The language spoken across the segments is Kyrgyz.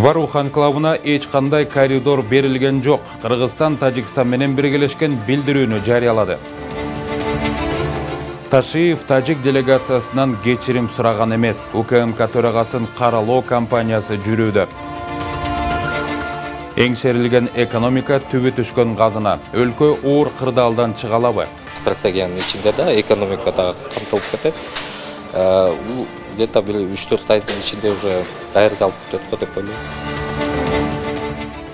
Варух анклавына эч кандай коридор берилген жок. Кыргызстан Тажикстан менен биргелешкен билдирүүнү жарыялады. Ташиев тажик делегациясынан кечирим сураган эмес. УКМК төрагасын каралоо кампаниясы жүрүүдө. Эңшерилген экономика түбү түшкөн газына. Өлкө оор кырдаалдан чыга алабы? Стратегиянын ичинде да экономика да камтылып кетет. Где-то 3-4 айдын ичинде уже даярдалып кетет го деп ойлойм.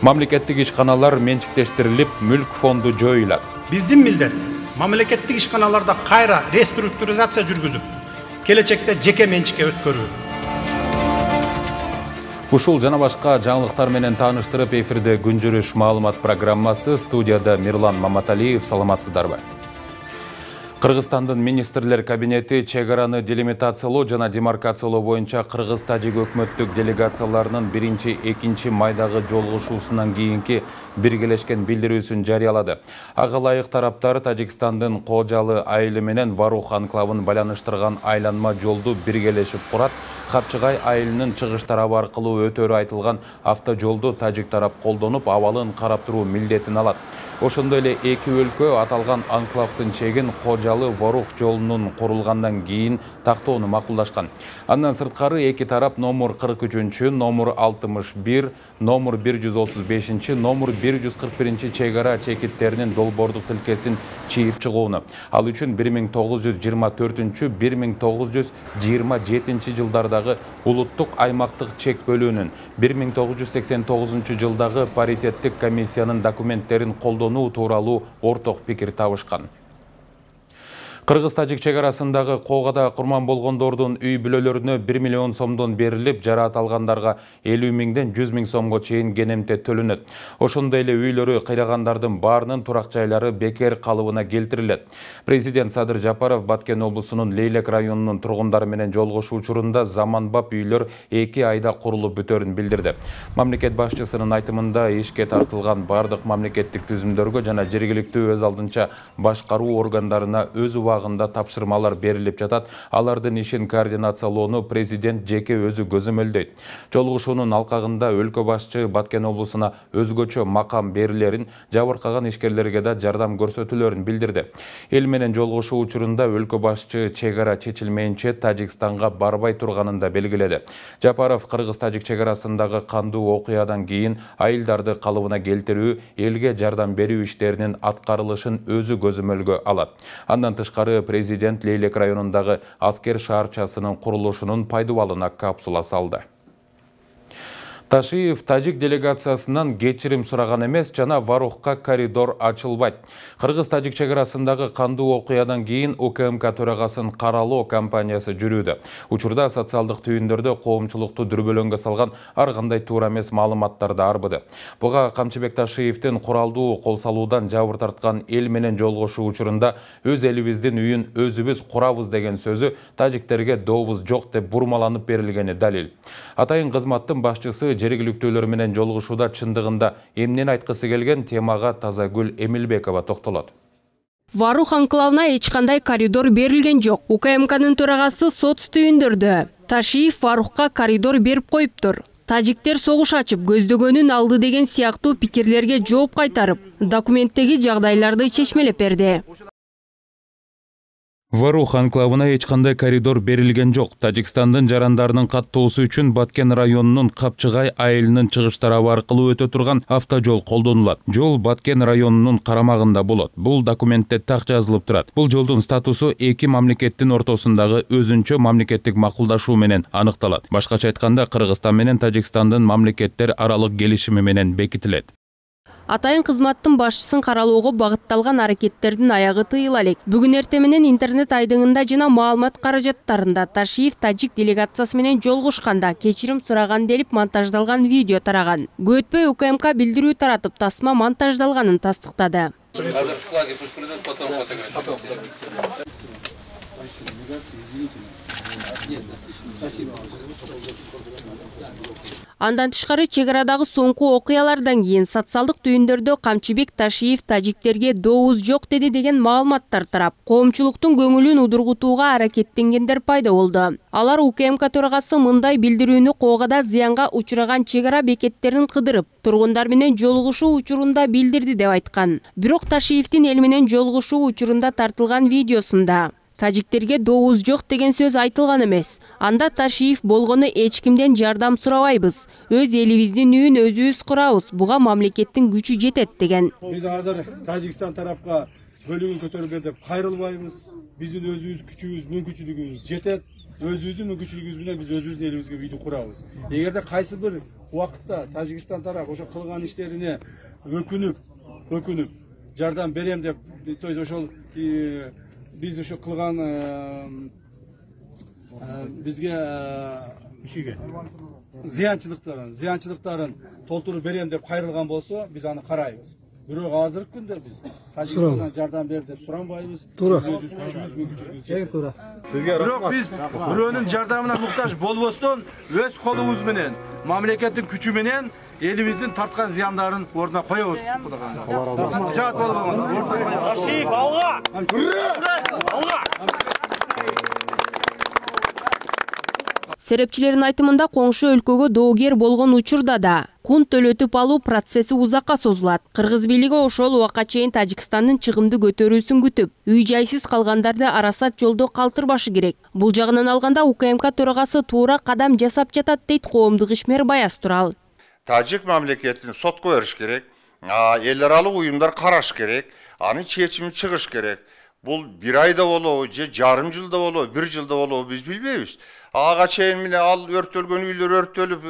Мамлекеттик ишканалар менчиктештирилип, мүлк фонду жоюлат. Биздин милдет мамлекеттик ишканаларда кайра реструктуризация жүргүзүп, келечекте жеке менчикке өткөрүү. Ушул жана башка жаңылыктар менен тааныштырып, эфирде күнжүрүш маалымат программасы. Студияда Мирлан Маматалиев. Саламатсыздарбы? Кыргызстандын министрлер кабинети чек-араны делимитациялоо жана демаркациялоо боюнча кыргыз-тажик өкмөттүк делегацияларынын 1-2 майдагы жолугушуусунан кийинки биргелешкен билдирүүсүн жарыялады. Ага ылайык тараптар Тажикстандын Кожалы айылы менен Варух анклавын байланыштырган айланма жолду биргелешип курат. Капчыгай айылынын чыгыш тарабы аркылуу өтөрү айтылган автожолду тажик тарап колдонуп, абалын карап туруу милдетин алат. Ошондой эле эки өлкө аталган анклавдын чегин Кожалы Варух жолунун курулгандан кийин тактоону макулдашкан. Андан сырткары эки тарап номер 43, номер 61, номер 135, номер 141 чек-ара чекиттеринин долбоордук тилкесин чийип чыгууну. Ал үчүн 1924-1927 жылдардагы улуттук аймактык чек бөлүүнүн, 1989 жылдагы паритеттик комиссиянын документтерин колдонуу тууралуу орток пикир табышкан. Кыргыз-тажик чек арасындагы коогада курман болгондордун үй бүлөлөрүнө 1 миллион сомдон берилип, жараат алгандарға 50 миңден 100 миң сомго чейин кенемте төлөнөт. Ошондой эле үйлөрү кыйрагандардын баарынын турак жайлары бекер калыбына келтирилет. Президент Садыр Жапаров Баткен облусунун Лейлек районунун тургундары менен жолугушуу учурунда заманбап үйлөр 2 айда курулуп бүтөрүн билдирди. Мамлекет башчысынын айтымында ишке тартылган бардык мамлекеттик түзүмдөргө жана жергиликтүү өз алдынча башкаруу органдарына өз убагында тапшырмалар берилип жатат. Алардын ишин координациялоону президент жеке өзү көзөмөлдөйт. Жолугушуунун алкагында өлкө башчы Баткен облусуна өзгөчө макам берилерин, жабыркаган ишкерлерге да жардам көрсөтүлөрүн билдирди. Эл менен жолугушуу учурунда өлкө башчы чек-ара чечилмейинче Тажикстанга барбай турганын да белгиледи. Жапаров кыргыз-тажик чек арасындагы кандуу окуядан кийин айылдарды калыбына келтирүү, элге жардам берүү иштеринин аткарылышын өзү көзөмөлгө алат. Андан тышкары президент Лейлек районундагы аскер шаарчасынын курулушунун пайдубалына капсула салды. Ташиев тажик делегациясынан кечирим сураган эмес, жана Варухка коридор ачылбайт. Кыргыз-тажик чек арасындагы кандуу окуядан кийин УКМК төрагасын каралоо кампаниясы жүрүүдө. Учурда социалдык түйүндөрдө коомчулукту дүрбөлөңгө салган ар кандай туура эмес маалыматтар да арбыды. Буга Камчыбек Ташиевдин куралдуу кол салуудан жабыр тарткан эл менен жолугушуу учурунда өз элибиздин үйүн өзүбүз курабыз деген сөзү тажиктерге дообуз жок деп бурмаланып берилгени далил. Атайын кызматтын башчысы жергиликтүүлөр менен жолугушууда чындыгында эмнени айткысы келген темага Тазагүл Эмилбекова токтолот. Варух анклавына эч кандай коридор берилген жок. УКМКнын төрагасы соц түйүндөрдө. Ташиев Варухка коридор берип коюптур. Тажиктер согуш ачып көздөгөнүн алды деген сыяктуу пикирлерге жооп кайтарып, документтеги жагдайларды чечмелеп берди. Варух анклавына эч кандай коридор берилген жок. Тажикстандын жарандарынын каттоосу үчүн Баткен районунун Капчыгай айылынын чыгыш тарабы аркылуу өтө турган автожол колдонулат. Жол Баткен районунун карамагында болот. Бул документте так жазылып турат. Бул жолдун статусу эки мамлекеттин ортосундагы өзүнчө мамлекеттик макулдашуу менен аныкталат. Башкача айтканда, Кыргызстан менен Тажикстандын мамлекеттер аралык келишими менен бекитилет. Атайын кызматтын башчысын каралоого багытталган аракеттердин аягы тыйыла элек. Бүгүн эртең менен интернет айдыңында жана маалымат каражаттарында Ташиев тажик делегациясы менен жолугушканда кечирим сураган делип монтаждалган видео тараган. Көтпөй УКМК билдирүү таратып, тасма монтаждалганын тастыктады. Андан тышкары чек арадагы соңку окуялардан кийин социалдык түйүндөрдө Камчыбек Ташиев тажиктерге добуз жок деди деген маалыматтар тарап, коомчулуктун көңүлүн удургутууга аракеттенгендер пайда болду. Алар УКМК төрагасы мындай билдирүүнү Коогада зыянга учураган чек ара бекеттерин кыдырып, тургундар менен жолугушуу учурунда билдирди деп айткан. Бирок Ташиевдин эл менен жолугушуу учурунда тартылган видеосунда тажиктерге добуз жок деген сөз айтылган эмес. Анда Ташиев болгону эч кимден жардам сурабайбыз. Өз элибиздин үйүн өзүбүз курабыз. Буга мамлекеттин күчү жетет деген. Биз азыр Тажикстан тарапка бөлүгүн көтөрүлгөн деп кайрылбайбыз. Биздин өзүбүз күчүбүз, мүмкүнчүлүгүбүз жетет. Өзүбүздүн мүмкүнчүлүгүбүз менен биз өзүбүздүн элибизге үйдү курабыз. Эгерде кайсы бир убакытта Тажикстан тарап ошо кылган иштерине өкүнүп жардам берем деп, то есть ошол биз ошо кылган бизге зыянчылыктарын толтуруп берем деп кайрылган болсо, биз аны карайбыз. Бирок азыркы күндө биз Тажикстандан жардам бер деп суранбайбыз. Туура. Бирок биз бирөөнүн жардамына муктаж болбостон, өз колубуз менен, мамлекеттин күчү менен элибиздин тарткан зыяндарын ордуна коебуз. Жаат болбоңуз. Ташиев алга! Алга! Серепчилердин айтымында коңшу өлкөгө доогер болгон учурда да кун төлөтүп алуу процесси узакка созулат. Кыргыз бийлиги ошол убакка чейин Тажикстандын чыгымды көтөрүүсүн күтүп, үй жайсыз калгандарды арасат жолдо калтырбашы керек. Бул жагынан алганда УКМК төрагасы туура кадам жасап жатат дейт коомдук ишмер Баяз Турал. Тажик мамлекетин сотко бериш керек, эл аралык уюмдар караш керек, анын чечими чыгыш керек. Бул бир айда болобу, же жарым жылда болобу, бир жылда болобу биз билбейбиз. Ага чейин міне ал өртөлгөн үйлөр өртөлүп,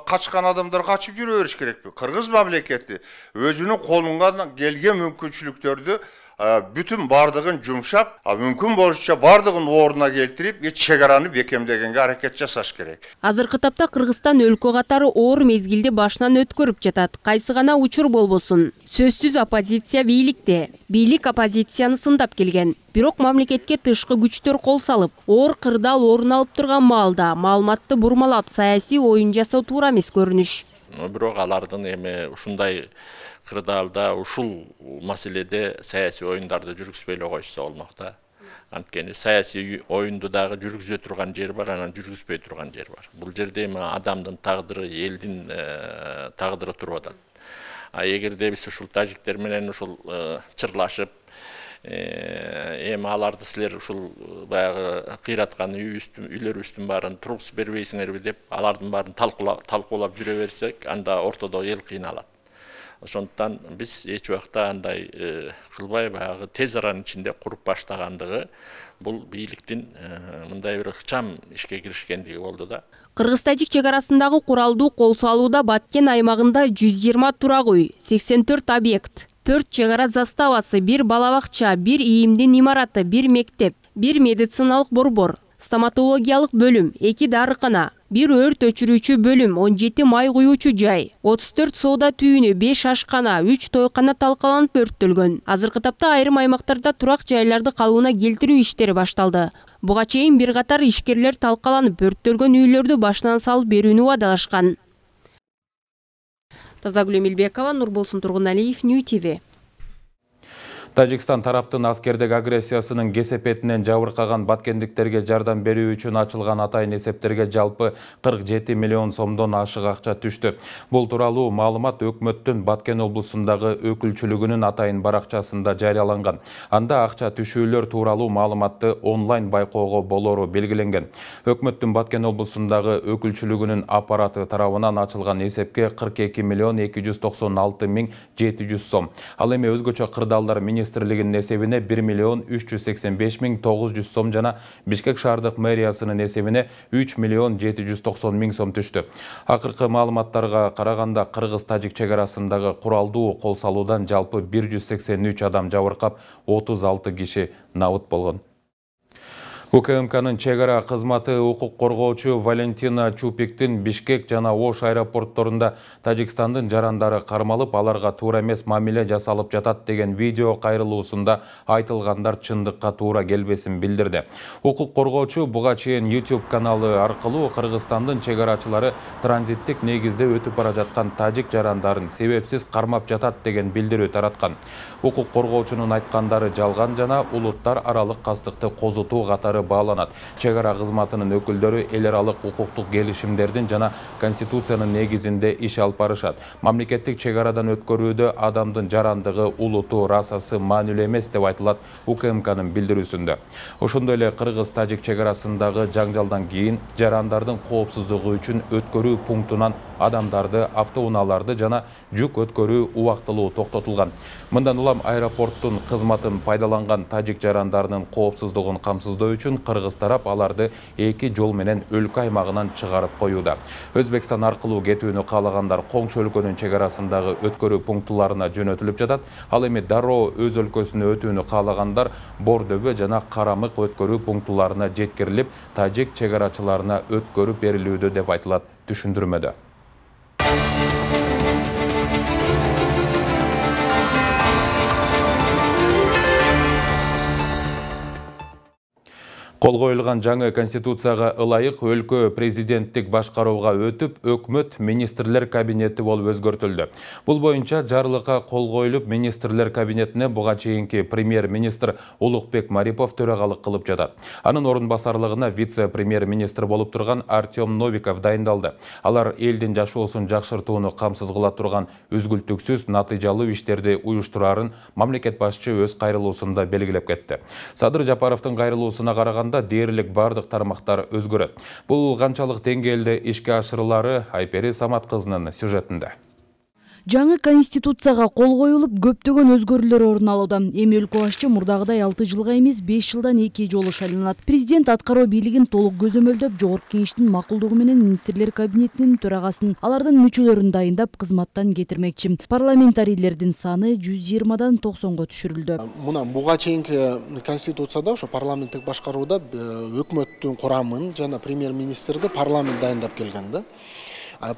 качкан адамдар качып жүрө бериш керекпи? Кыргыз мамлекети өзүнүн колунан келген мүмкүнчүлүктөрдү бүтүн бардыгын жумшап, мүмкүн болушунча бардыгын ордуна келтирип, чек араны бекемдегенге аракет жасаш керек. Азыркы тапта Кыргызстан өлкө катары оор мезгилди башынан өткөрүп жатат. Кайсы гана учур болбосун. Сөзсүз оппозиция бийликте, бийлик оппозицияны сындап келген. Бирок мамлекетке тышкы күчтөр кол салып, оор кырдаал орун алып турган маалда маалыматты бурмалап, саясий оюн жасоо туура эмес көрүнүш. Бирок алардын эми ушундай кырдаалда ушул маселеде саясий оюндарды жүргүзбөй эле койушса болмок да. Анткени саясий оюнду дагы жүргүзө турган жер бар, анан жүргүзбөй турган жер бар. Бул жерде эми адамдын тагдыры, элдин тагдыры туруп атат. Эгерде биз ушул тажиктер менен ушул чырлашып, эми аларды силер ушул баягы кыйраткан үйлөрүбүздүн баарын тургузуп бербейсиңерби деп, алардын баарын талкуулап жүрө берсек, анда ортодо эл кыйналат. Ошондуктан биз эч убакта андай кылбай, баягы тез аранын ичинде куруп баштагандыгы бул бийликтин мындай бир ыкчам ишке киришкендиги болду да. Кыргыз-тажик чек арасындагы куралдуу кол салууда Баткен аймагында 120 турак үй, 84 объект, 4 чек ара заставасы, 1 балабакча, 1 ийимдин имараты, 1 мектеп, 1 медициналык борбор, стоматологиялык бөлүм, 2 дарыкана, 1 өрт өчүрүүчү бөлүм, 17 май куюучу жай, 34 соода түйүнү, 5 ашкана, 3 тойкана талкаланып өрттөлгөн. Азыркы тапта айрым аймактарда турак жайларды калыбына келтирүү иштери башталды. Буга чейин бир катар ишкерлер талкаланып өрттөлгөн үйлөрдү башынан салып берүүнү убадалашкан. Тазагүл Эмилбекова, Нурболсун Тургуналиев, Нью ТВ. Тажикстан тараптын аскердик агрессиясынын кесепетинен жабыркаган баткендиктерге жардам берүү үчүн ачылган атайын эсептерге жалпы 47 миллион сомдон ашык акча түштү. Бул тууралуу маалымат өкмөттүн Баткен облусундагы өкүлчүлүгүнүн атайын баракчасында жарыяланган. Анда акча түшүүлөр тууралуу маалыматты онлайн байкоого болору белгиленген. Өкмөттүн Баткен облусундагы өкүлчүлүгүнүн аппараты тарабынан ачылган эсепке 42 миллион 296 миң 700 сом. Ал эми өзгөчө кырдаалдар министрлигинин эсебине 1 миллион 385 миң 900 сом жана Бишкек шаардык мэриясынын эсебине 3 миллион 790 миң сом түштү. Акыркы маалыматтарга караганда кыргыз-тажик чек арасындагы куралдуу кол салуудан жалпы 183 адам жабыркап, 36 киши набыт болгон. УКМКнын чек ара кызматы укук коргоочу Валентина Чупиктин Бишкек жана Ош аэропортторунда Тажикстандын жарандары кармалып, аларга туура эмес мамиле жасалып жатат деген видео кайрылуусунда айтылгандар чындыкка туура келбесин билдирди. Укук коргоочу буга чейин YouTube каналы аркылуу Кыргызстандын чек арачылары транзиттик негизде өтүп бара жаткан тажик жарандарын себепсиз кармап жатат деген билдирүү тараткан. Укук коргоочунун айткандары жалган жана улуттар аралык кастыкты козутуу катары бааланат. Чек ара кызматынын өкүлдөрү эл аралык укуктук келишимдердин жана Конституциянын негизинде иш алып барышат. Мамлекеттик чек арадан өткөрүүдө адамдын жарандыгы, улуту, расасы маанилүү эмес деп айтылат УКМКнын билдирүүсүндө. Ошондой эле кыргыз-тажик чек арасындагы жаңжалдан кийин жарандардын коопсуздугу үчүн өткөрүү пунктунан адамдарды, автоунааларды жана жүк өткөрүү убактылуу токтотулган. Мындан улам аэропорттун кызматын пайдаланган тажик жарандарынын коопсуздугун камсыздоо үчүн кыргыз тарап аларды эки жол менен өлкө аймагынан чыгарып коюуда. Өзбекстан аркылуу кетүүнү каалагандар коңшу өлкөнүн чек арасындагы өткөрүү пунктуларына жөнөтүлүп жатат. Ал эми дароо өз өлкөсүнө өтүүнү каалагандар Бордөбө жана Карамык өткөрүү пунктуларына жеткирилип, тажик чек арачыларына өткөрүп берилүүдө деп айтылат түшүндүрмөдө. Кол коюлган жаңы конституцияга ылайык өлкө президенттик башкарууга өтүп, өкмөт министрлер кабинети болуп өзгөртүлдү. Бул боюнча жарлыкка кол коюлуп, министрлер кабинетине буга чейинки премьер-министр Улукбек Марипов төрагалык кылып жатат. Анын орун басарлыгына вице-премьер-министр болуп турган Артем Новиков дайындалды. Алар элдин жашоосун жакшыртууну камсыз кыла турган үзгүлтүксүз натыйжалуу иштерди уюштураарын мамлекет башчы өз кайрылуусунда белгилеп кетти. Садыр Жапаровдун кайрылуусуна караганда дээрлик бардык тармактар өзгөрөт. Бул канчалык деңгээлде ишке ашырылары Айпери Самат кызынын сюжетинде. Жаңы конституцияга кол коюлуп, көптөгөн өзгөрүүлөр орун алууда. Эми өлкө башчы мурдагыдай 6 жылга эмес 5 жылдан 2 жолу шайланат. Президент аткаруу бийлигин толук көзөмөлдөп, жогорку кеңештин макулдугу менен министрлер кабинетинин төрагасын, алардын мүчөлөрүн дайындап, кызматтан кетирмекчи. Парламентарийлердин саны 120дан 90го түшүрүлдү. Мына буга чейинки конституцияда ошо парламенттик башкарууда өкмөттүн курамын жана премьер-министрди парламент дайындап келген да.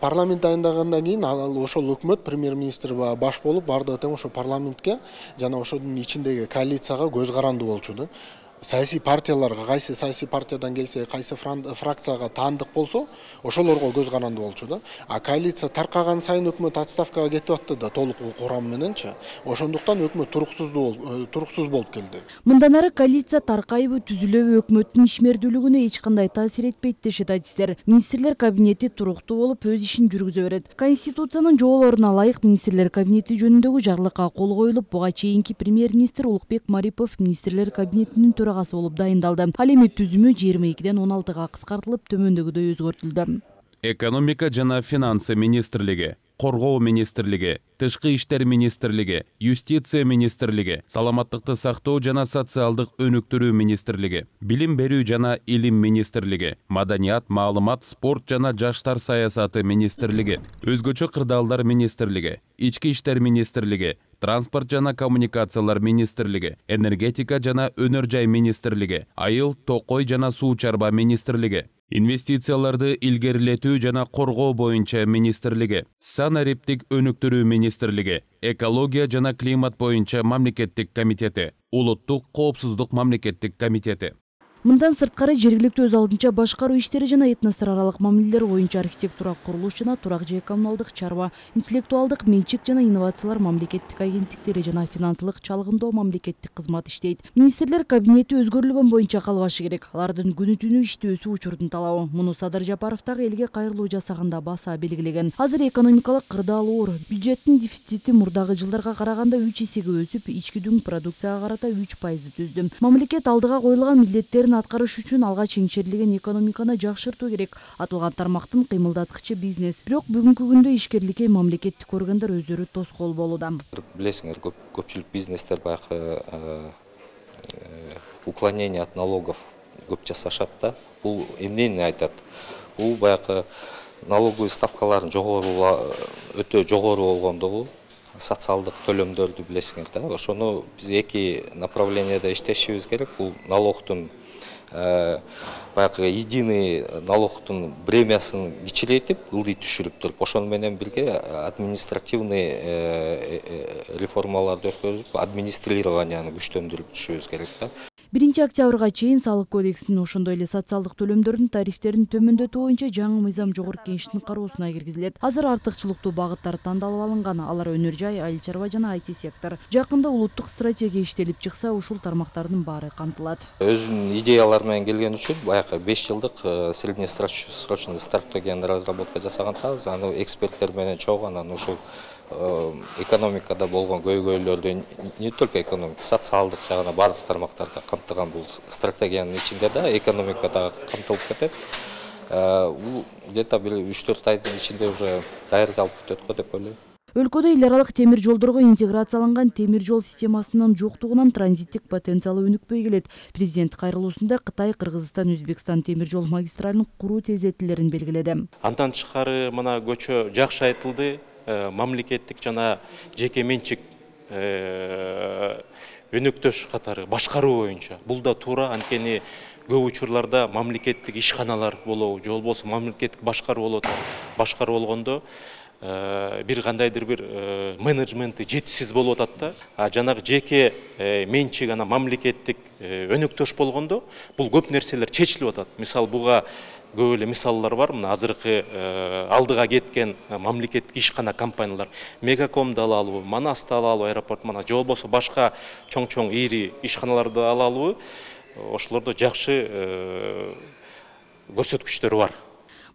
Парламент дайындагандан кийин ошол өкмөт премьер-министр баш болуп бардыгы тең ошо парламентке жана ошонун ичиндеги коалицияга көз каранды болчу да. Саясий партияларга кайсы саясий партиядан келсе, кайсы фракцияга таандык болсо, ошолорго көз каранды болчу да. А коалиция таркаган сайын өкмөт отставкага кетип атты да, толук курам мененчи. Ошондуктан өкмөт туруксуз болуп келди. Мындан ары коалиция таркайбы, түзүлөбү өкмөттүн ишмердүүлүгүнө эч кандай таасир этпейт дешет адистер. Министрлер кабинети туруктуу болуп өз ишин жүргүзө берет. Конституциянын жоболоруна ылайык министрлер кабинети жөнүндөгү жарлыкка кол коюлуп, буга чейинки премьер-министр Улукбек Марипов министрлер кабинетинин болуп дайындалды. Ал эми түзүмү 22ден 16га кыскартылып, төмөндөгүдөй өзгөртүлдү. Экономика жана финансы министрлиги, Коргоо министрлиги, Тышкы иштер министрлиги, Юстиция министрлиги, Саламаттыкты сактоо жана социалдык өнүктүрүү министрлиги, Билим берүү жана илим министрлиги, Маданият, маалымат, спорт жана жаштар саясаты министрлиги, Өзгөчө кырдаалдар министрлиги, Ички иштер министрлиги, Транспорт жана коммуникациялар министрлиги, Энергетика жана өнөр жай министрлиги, Айыл, токой жана суу чарба министрлиги, Инвестицияларды илгерилетүү жана коргоо боюнча министрлиги, Санариптик өнүктүрүү министрлиги, Экология жана климат боюнча мамлекеттик комитети, Улуттук коопсуздук мамлекеттик комитети. Мындан сырткары жергиликтүү өз алдынча башкаруу иштери жана этностор аралык мамилелер боюнча архитектура, курулуш жана турак жай коммуналдык чарба, интеллектуалдык менчик жана инновациялар мамлекеттик агенттиктери жана финансылык чалгындоо мамлекеттик кызмат иштейт. Министрлер кабинети өзгөрүлгөн боюнча калбашы керек. Алардын күнү түнү иштөөсү учурдун талабы. Муну Садыр Жапаров дагы элге кайрылуу жасаганда баса белгилеген. Азыр экономикалык кырдаал оор. Бюджеттин дефицити мурдагы жылдарга караганда 3 эсеге өсүп, ички дүң продукцияга карата 3% түздү. Мамлекет алдыга коюлган милдеттерин аткарыш үчүн алгач еңчерилген экономиканы жакшыртуу керек. Атылган тармактын кыймылдаткычы бизнес. Бирок бүгүнкү күндө ишкерликке мамлекеттик органдар өздөрү тоскоол болууда. Билесиңер, көпчүлүк бизнестер баягы уклонение от налогов көп жасашат да. Бул эмнени айтат? Бул баягы налоговый ставкалардын өтө жогору болгондугу, социалдык төлөмдөрдү билесиңер да. Ошону биз эки направленияда иштешибиз керек. Бул налогтун баягы единый налогтун премиясын кичирейтип, ылдый түшүрүп туруп, ошону менен бирге административный реформаларды өткөрүп, администрированияны күчтөндүрүп түшүбүз керек да. 1 октябрга чейин салык кодексинин ошондой эле социалдык төлөмдөрдүн тарифтерин төмөндөтүү боюнча жаңы мыйзам жогорку кеңештин кароосуна киргизилет. Азыр артыкчылыктуу багыттар тандалып алынган. Алар өнөр жай, айыл чарба жана IT сектор. Жакында улуттук стратегия иштелип чыкса, ушул тармактардын баары камтылат. Өзүнүн идеялары менен келген үчүн баягы 5 жылдык среднесрочный стратегияны разработка жасаган атабыз. Аны эксперттер менен чогуу анан ушул экономикада болгон көйгөйлөрдү не только экономика, социалдык жагына барлык тармактарда камтыган бул стратегиянын ичинде да экономикада камтылып кетет. Бул где-то бир 3-4 айдын ичинде уже даярдалып бүтөт го деп ойлойм. Өлкөдө эл аралык темир жолдорго интеграцияланган темир жол системасынын жоктугунан транзиттик потенциалы өнүкпөй келет. Президент кайрылуусунда Кытай, Кыргызстан, Өзбекстан темир жол магистралын куруу тездетилерин белгиледи. Андан тышкары мына көчө жакшы айтылды. Мамлекеттик жана жеке менчик өнөктөш катары башкаруу боюнча. Бул да туура, анткени көп учурларда мамлекеттик ишканалар болобу, же болбосо мамлекеттик башкаруу болот. Башкаруу болгондо бир кандайдыр бир менеджменти жетишсиз болуп атат да. Жанагы жеке менчик ана мамлекеттик өнөктөш болгондо бул көп нерселер чечилип атат. Мисалы буга көп эле мисаллар бар. Мына азыркы алдыга кеткен мамлекеттик ишкана компаниялар, Мегакомду алалыбы, Манасты алалыбы, аэропорт мана, же болбосо башка чоң-чоң ири ишканаларды алалыбы, ошолордо жакшы көрсөткүчтөр бар.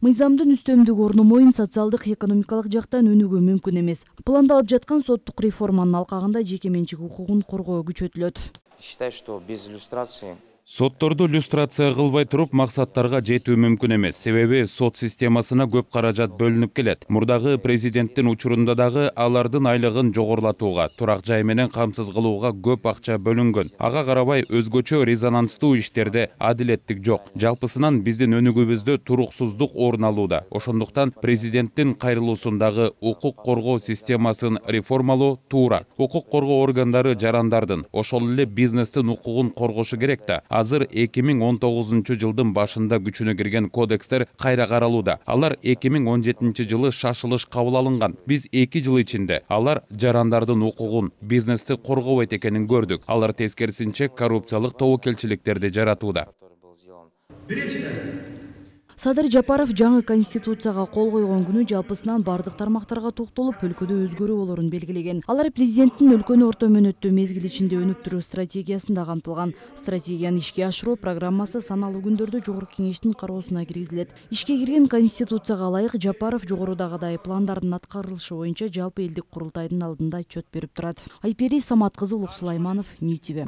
Мыйзамдын үстөмдүк орномоюн социалдык экономикалык жактан өнүгүү мүмкүн эмес. Пландалып жаткан соттук реформанын алкагында жеке менчик укугун коргоо күчөтүлөт. Считаю, что без иллюстрации Сотторду люстрация кылбай туруп максаттарга жетүү мүмкүн эмес. Себеби сот системасына көп каражат бөлүнүп келет. Мурдагы президенттин учурунда дагы алардын айлыгын жогорулатууга, турак жай менен камсыз кылууга көп акча бөлүнгөн. Ага карабай өзгөчө резонанстуу иштерде адилеттик жок. Жалпысынан биздин өнүгүүбүздө туруксуздук орун алууда. Ошондуктан президенттин кайрылуусундагы укук коргоо системасын реформалоо туура. Укук коргоо органдары жарандардын, ошол эле бизнестин укугун коргошу керек да. Азыр 2019 жылдын башында күчүнө кирген кодекстер кайра каралууда. Алар 2017 жылы шашылыш кабыл алынган. Биз 2 жыл ичинде алар жарандардын укугун, бизнести коргобойт экенин көрдүк. Алар тескерисинче коррупциялык тобокелчиликтерди жаратууда. Садыр Жапаров жаңы конституцияга кол койгон күнү жалпысынан бардык тармактарга токтолуп, өлкөдө өзгөрүү болорун белгилеген. Алар президенттин өлкөнү орто мөөнөттүү мезгил ичинде өнүктүрүү стратегиясында камтылган. Стратегияны ишке ашыруу программасы саналуу күндөрдө жогорку кеңештин кароосуна киргизилет. Ишке кирген конституцияга ылайык Жапаров жогорудагыдай пландардын аткарылышы боюнча жалпы элдик курултайдын алдында отчет берип турат. Айпери Самат кызы, Улук Сулайманов, Ньютиве.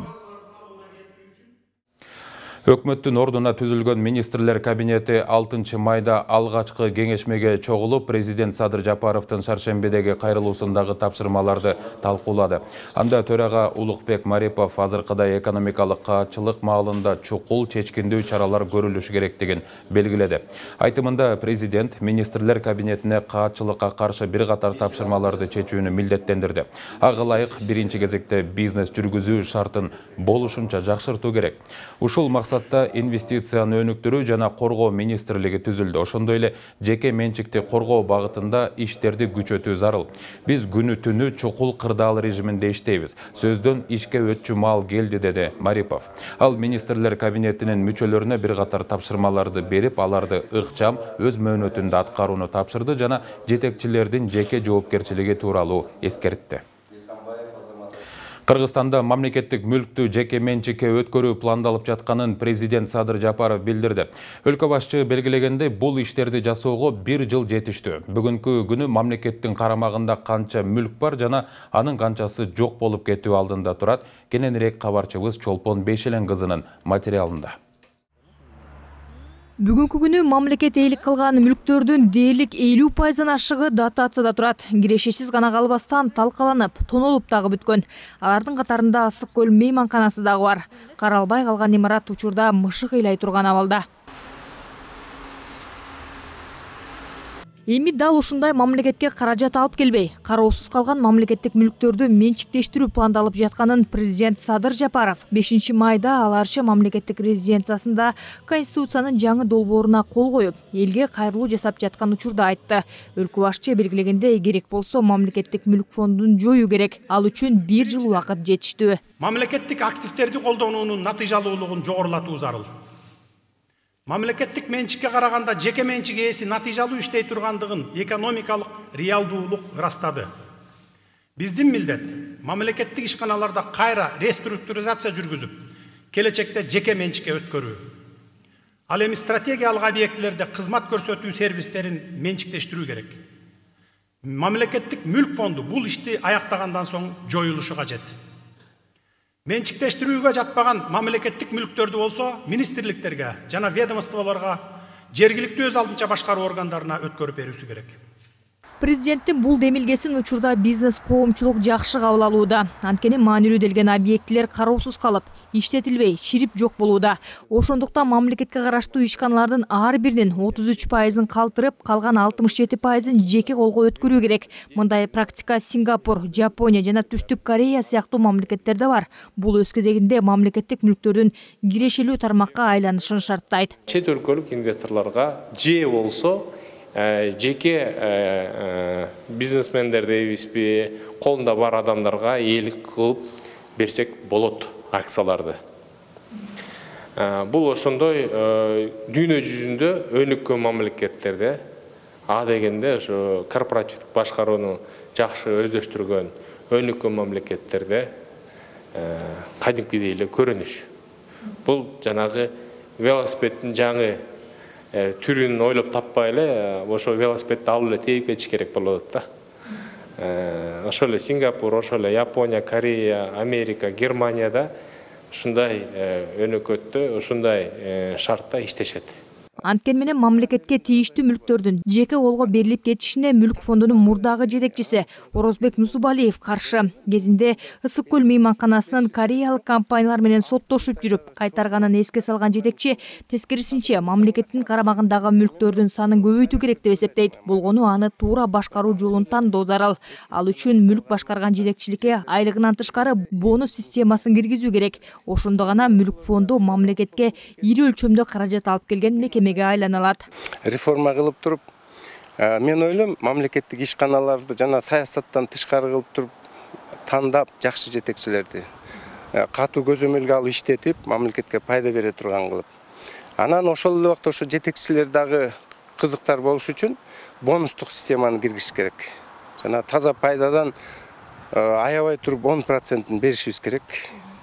Өкмөттүн ордуна түзүлгөн министрлер кабинети 6 майда алгачкы кеңешмеге чогулуп, президент Садыр Жапаровдун шаршембидеги кайрылуусундагы тапшырмаларды талкуулады. Анда төрага Улукбек Марипов азыркыдай экономикалык каатчылык маалында чукул чечкиндүү чаралар көрүлүшү керектигин белгиледи. Айтымында президент министрлер кабинетине каатчылыкка каршы бир катар тапшырмаларды чечүүнү милдеттендирди. Ага ылайык биринчи кезекте бизнес жүргүзүү шартын болушунча жакшыртуу керек. Ушул максатта инвестицияны өнүктүрүү жана коргоо министрлиги түзүлдү. Ошондой эле жеке менчикти коргоо багытында иштерди күчөтүү зарыл. Биз күнү түнү чукул кырдаал режиминде иштейбиз. Сөздөн ишке өтчү маал келди, деди Марипов. Ал министрлер кабинетинин мүчөлөрүнө бир катар тапшырмаларды берип, аларды ыкчам өз мөөнөтүндө аткарууну тапшырды жана жетекчилердин жеке жоопкерчилиги тууралуу эскертти. Кыргызстанда мамлекеттик мүлктү жеке менчикке өткөрүү пландалып жатканын президент Садыр Жапаров билдирди. Өлкө башчы белгилегендей, бул иштерди жасоого 1 жыл жетиштүү. Бүгүнкү күнү мамлекеттин карамагында канча мүлк бар жана анын канчасы жок болуп кетүү алдында турат. Кененирээк кабарчыбыз Чолпон Бейшелен кызынын материалында. Бүгүнкү күнү мамлекетээлик кылган мүлктөрдүн дээрлик 50% ашыгы дотацияда турат. Кирешесиз гана калбастан талкаланып, тонолуп дагы бүткөн. Алардын катарында Ысык көл мейманканасы дагы бар. Каралбай калган имарат учурда мышык ыйлай турган абалда. Эми дал ушундай мамлекетке каражат алып келбей, кароосуз калган мамлекеттик мүлктөрдү менчиктештирүү пландалып жатканын президент Садыр Жапаров 5 майда Ал Арча мамлекеттик резиденциясында Конституциянын жаңы долбооруна кол коюп, элге кайрылуу жасап жаткан учурда айтты. Өлкө башчы белгилегендей, керек болсо мамлекеттик мүлк фондун жоюу керек. Ал үчүн 1 жыл убакыт жетиштүү. Мамлекеттик активдерди колдонуунун натыйжалуулугун жогорулатуу зарыл. Мамлекеттик менчикке караганда жеке менчик ээси натыйжалуу иштей тургандыгын экономикалык реалдуулук ырастады. Биздин милдет мамлекеттик ишканаларда кайра реструктуризация жүргүзүп, келечекте жеке менчикке өткөрүү. Ал эми стратегиялык объектилерде кызмат көрсөтүү сервистерин менчиктештирүү керек. Мамлекеттик мүлк фонду бул ишти аяктагандан соң жоюлушу кажет. Менчиктештирүүгө жатпаган мамлекеттик мүлктөрдү болсо министрликтерге жана ведомстволорго, жергиликтүү өз алдынча башкаруу органдарына өткөрүп берүүсү керек. Президенттин бул демилгесин учурда бизнес коомчулук жакшы кабыл алууда. Анткени маанилүү делген объектилер кароосуз калып, иштетилбей, ширип жок болууда. Ошондуктан мамлекетке караштуу ишканалардын ар биринин 33%-ын калтырып, калган 67%-ын жеке колго өткөрүү керек. Мындай практика Сингапур, Жапония жана Түштүк Корея сыяктуу мамлекеттерде бар. Бул өз кезегинде мамлекеттик мүлктөрдүн кирешелүү тармакка айланышын шарттайт. Чет өлкөлүк инвесторлорго же болсо жеке бизнесмендер дейбизби, колунда бар адамдарга ээлик кылып берсек болот акцияларды. Бул ошондой дүйнө жүзүндө өнүккөн мамлекеттерде дегенде ошо корпоративдик башкарууну жакшы өздөштүргөн өнүккөн мамлекеттерде кадимкидей эле көрүнүш. Бул жанагы велосипеддин жаңы түрүн ойлоп таппай эле ошо велосипедди алып эле тээп кетиш керек болот да. Ошо эле Сингапур, ошо эле Япония, Корея, Америка, Германияда ушундай өнөкөттө, ушундай шартта иштешет. Анткени менен мамлекетке тийиштүү мүлктөрдүн жеке колго берилип кетишине мүлк фондунун мурдагы жетекчиси Орозбек Нусубалиев каршы. Кезинде Ысык көл мейманканасынын кореялык компаниялар менен соттошуп жүрүп кайтарганын эске салган жетекчи, тескерисинче мамлекеттин карамагындагы мүлктөрдүн санын көбөйтүү керек деп эсептейт. Болгону аны туура башкаруу жолун тандоо зарыл. Ал үчүн мүлк башкарган жетекчиликке айлыгынан тышкары бонус системасын киргизүү керек. Ошондо гана мүлк фонду мамлекетке ири өлчөмдө каражат алып келген мекеме айланалат. Реформа кылып туруп, мен ойлойм, мамлекеттик ишканаларды жана саясаттан тышкары кылып туруп, тандап жакшы жетекчилерди катуу көзөмөлгө алып иштетип, мамлекетке пайда бере турган кылып. Анан ошол эле убакта ошо жетекчилер дагы кызыктар болуш үчүн бонустук системаны киргизиш керек. Жана таза пайдадан аябай туруп 10%-ын беришибиз керек.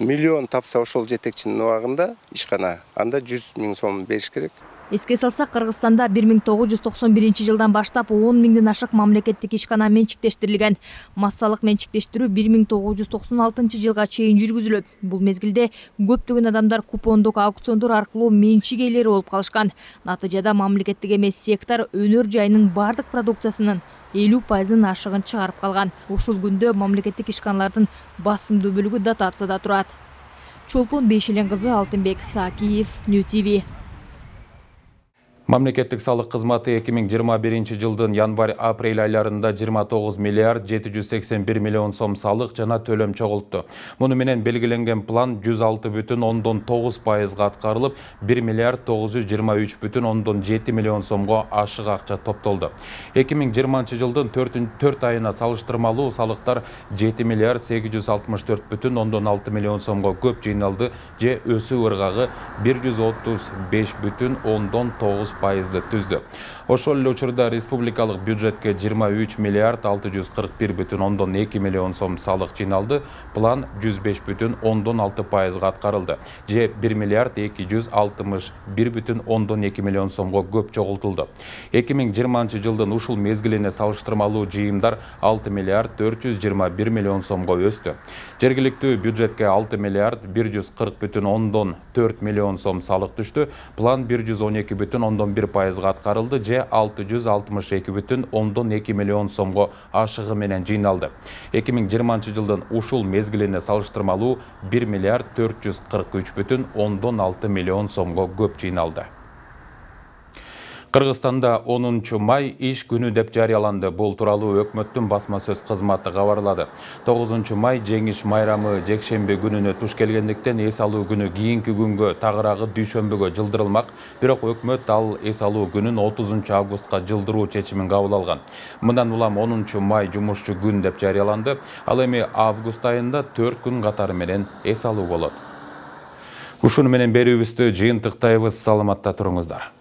Миллион тапса ошол жетекчинин убагында ишкана, анда 100 000 сом бериш керек. Эске салсак, Кыргызстанда 1991 жылдан баштап 10 000ден ашык мамлекеттик ишкана менчиктештирилген. Массалык менчиктештирүү 1996 жылга чейин жүргүзүлөт. Бул мезгилде көптөгөн адамдар купондук аукциондор аркылуу менчик ээлери болуп калышкан. Натыйжада мамлекеттик эмес сектор өнөр жайынын бардык продукциясынын 50%-ын ашыгын чыгарып калган. Ушул күндө мамлекеттик ишканалардын басымдуу бөлүгү дотацияда турат. Чолпон Бейшелен кызы, Алтынбек Сакиев, New TV. Мамлекеттик салык кызматы 2021 жылдын январь-апрель айларында 29 миллиард 781 миллион сом салык жана төлөм чогултту. Муну менен белгиленген план 106,9%га аткарылып, 1 миллиард 923,7 миллион сомго ашык акча топтолду. 2020 жылдын 4 айына салыштырмалуу салыктар 7 миллиард 864,6 миллион сомго көп жыйналды же өсүү ыргагы 135,9% түздү. Ошол эле учурда республикалык бюджетке 23 миллиард 641,2 миллион сом салык жыйналды. План 105,6%га аткарылды. Же 1 миллиард 261,2 миллион сомго көп чогултулду. 2020 жылдын ушул мезгилине салыштырмалуу жыйымдар 6 миллиард 421 миллион сомго өстү. Жергиликтүү бюджетке 6 миллиард 140,4 миллион сом салык түштү. План 112,1%га аткарылды же 662,2 миллион сомго ашыгы менен жыйналды. 2020 жылдын ушул мезгилине салыштырмалуу 1 миллиард 443,6 миллион сомго көп жыйналды. Кыргызстанда 10 май иш күнү деп жарыяланды. Бул тууралуу өкмөттүн басма сөз кызматы кабарлады. 9 май жеңиш майрамы жекшемби күнүнө туш келгендиктен эс алуу күнү кийинки күнгө, тагыраагы дүйшөмбүгө жылдырылмак. Бирок өкмөт ал эс алуу күнүн 30 августка жылдыруу чечимин кабыл алган. Мындан улам 10 май жумушчу күн деп жарыяланды. Ал эми август айында 4 күн катары менен эс алуу болот. Ушуну менен берүүбүздү жыйынтыктайбыз. Саламатта туруңуздар.